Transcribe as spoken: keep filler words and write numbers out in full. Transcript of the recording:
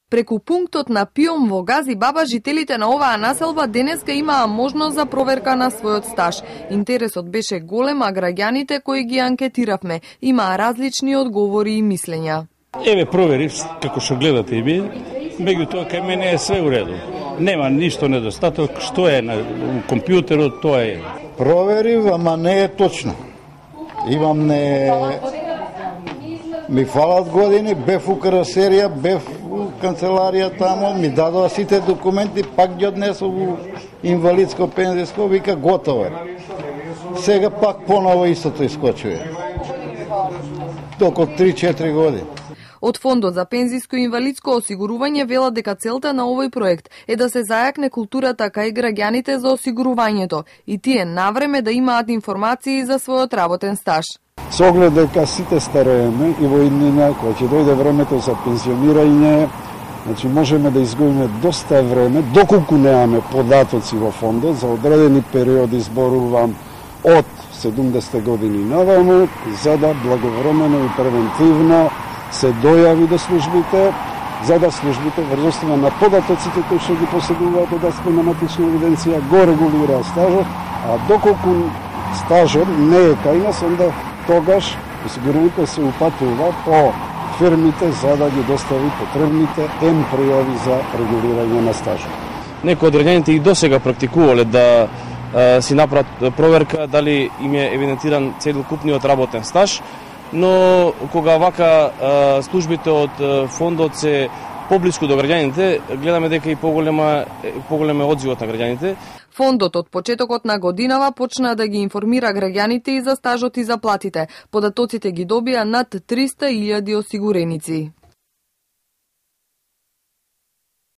Преку пунктот на Пиом во Гази Баба, жителите на оваа населба денеска имаа можност за проверка на својот стаж. Интересот беше голем, а граѓаните кои ги анкетиравме имаа различни одговори и мислења. Еве проверив како што гледате и ви, меѓутоа кај мене е све уреду. Нема ништо недостаток, што е на компјутерот, тоа е. Проверив, ама не е точно. Имам не... Ми фалат години, бев у карасерија, бев у канцеларија тамо, ми дадоа сите документи, пак ги однесов у инвалидско пензиско, вика готово е. Сега пак поново истото искочува. Токо три-четири години. Од Фондот за пензиско и инвалидско осигурување велат дека целта на овој проект е да се зајакне културата кај граѓаните за осигурувањето и тие навреме да имаат информации за својот работен стаж. Со оглед дека сите старееме и во иднина, кога ќе дојде времето за пензионирање, значи можеме да изгубиме доста време, доколку немаме податоци во фондот, за одредени периоди зборувам од седумдесетте години наваму, за да благовремено и превентивно се дојави до службите, за да службите врз основа на податоците кои што ги поседуваат од спрематична евиденција го регулира стажот, а доколку стажот не е кај нас, онда тогаш осигуреникот се упатува по фирмите за да ги достави потребните ем пријави за регулирање на стажот. Некои од граѓаните и досега практикувале да а, си направат проверка дали им е евидентиран целокупниот работен стаж, но кога вака а, службите од фондот се поблиску до граѓаните, гледаме дека и поголема поголем е одзивот на граѓаните. Фондот од почетокот на годинава почна да ги информира граѓаните и за стажот и за платите. Податоците ги добија над триста илјади осигуреници.